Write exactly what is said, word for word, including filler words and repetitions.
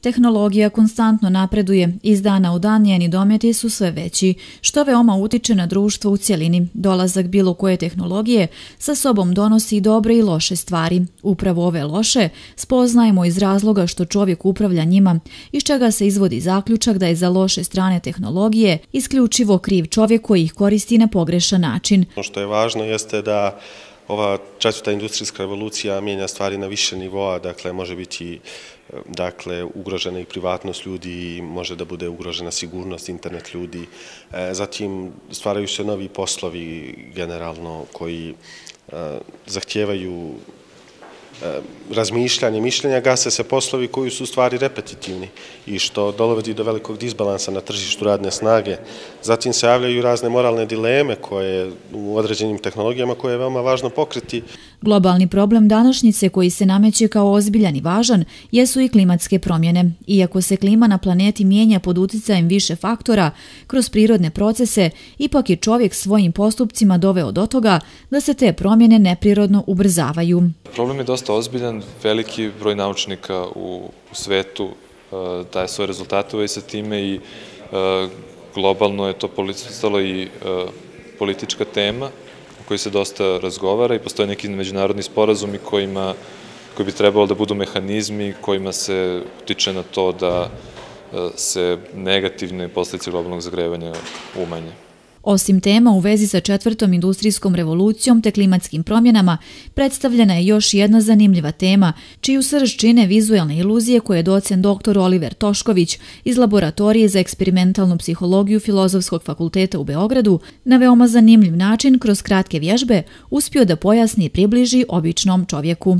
Tehnologija konstantno napreduje, iz dana u dan njeni dometi su sve veći, što veoma utiče na društvo u cjelini. Dolazak bilo koje tehnologije sa sobom donosi dobre i loše stvari. Upravo ove loše spoznajemo iz razloga što čovjek upravlja njima, iz čega se izvodi zaključak da je za loše strane tehnologije isključivo kriv čovjek koji ih koristi na pogrešan način. Ono što je važno jeste da ova četvrta industrijska revolucija mijenja stvari na više nivoa, dakle može biti dakle, ugrožena i privatnost ljudi, može da bude ugrožena sigurnost, internet ljudi. Zatim stvaraju se novi poslovi generalno koji zahtijevaju razmišljanje, mišljenja, gase se poslovi koji su u stvari repetitivni i što dovodi do velikog disbalansa na tržištu radne snage. Zatim se javljaju razne moralne dileme koje u određenim tehnologijama koje je veoma važno pokriti. Globalni problem današnjice koji se nameće kao ozbiljan i važan jesu i klimatske promjene. Iako se klima na planeti mijenja pod uticajem više faktora kroz prirodne procese, ipak je čovjek svojim postupcima doveo do toga da se te promjene neprirodno ubrzavaju. Problem je dosta ozbiljan, veliki broj naučnika u svetu daje svoje rezultate i sa time i globalno je to postalo i politička tema o kojoj se dosta razgovara i postoje neki međunarodni sporazumi kojima, koji bi trebalo da budu mehanizmi kojima se utiče na to da se negativne posljedice globalnog zagrevanja umanje. Osim tema u vezi sa četvrtom industrijskom revolucijom te klimatskim promjenama, predstavljena je još jedna zanimljiva tema, čiju srž čine vizuelne iluzije koje je docent doktor Oliver Tošković iz Laboratorije za eksperimentalnu psihologiju Filozofskog fakulteta u Beogradu na veoma zanimljiv način kroz kratke vježbe uspio da pojasni i približi običnom čovjeku.